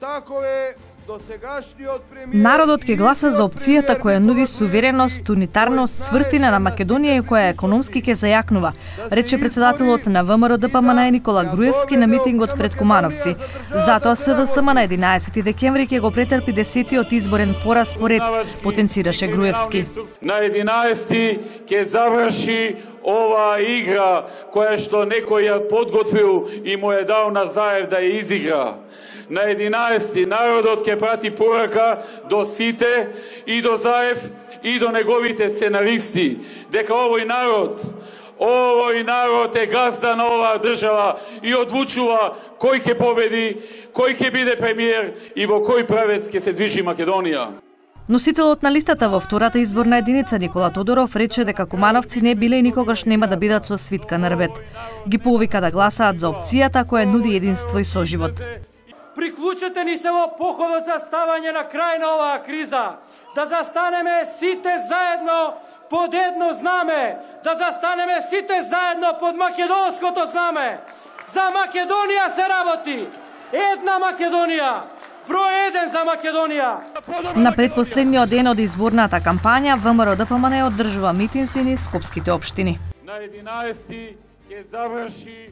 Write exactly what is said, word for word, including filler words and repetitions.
такове досегашниот премиер. Народот ќе гласа за опцијата која нуди сувереност, унитарност, цврстина на Македонија и која економски ќе зајакнува, рече председателот на ВМРО Д П М Н Никола Груевски на митингот пред Кумановци. Затоа С D S M на единаесети декември ќе го претрпи десетиот изборен пораз по ред, потенцираше Груевски. На единаесети ќе заврши ова игра која што некој ја подготвил и му е дал на Заев да ја изигра. На единаесети народот ќе прати порака до сите и до Заев и до неговите сценаристи дека овој народ, овој народ е газда на оваа држава и одлучува кој ќе победи, кој ќе биде премиер и во кој правец ќе се движи Македонија. Носителот на листата во втората изборна единица Никола Тодоров рече дека кумановци не биле и никогаш нема да бидат со свитка на рвет. Ги повика да гласаат за опцијата која нуди единство и соживот. Приклучете ни се во походот за ставање на крај на оваа криза, да застанеме сите заедно под едно знаме, да застанеме сите заедно под македонското знаме. За Македонија се работи, една Македонија, број еден за Македонија. На предпоследниот ден од изборната кампања ВМРО Д П М Н одржува митинзи низ скопските општини. На единаесети ќе заврши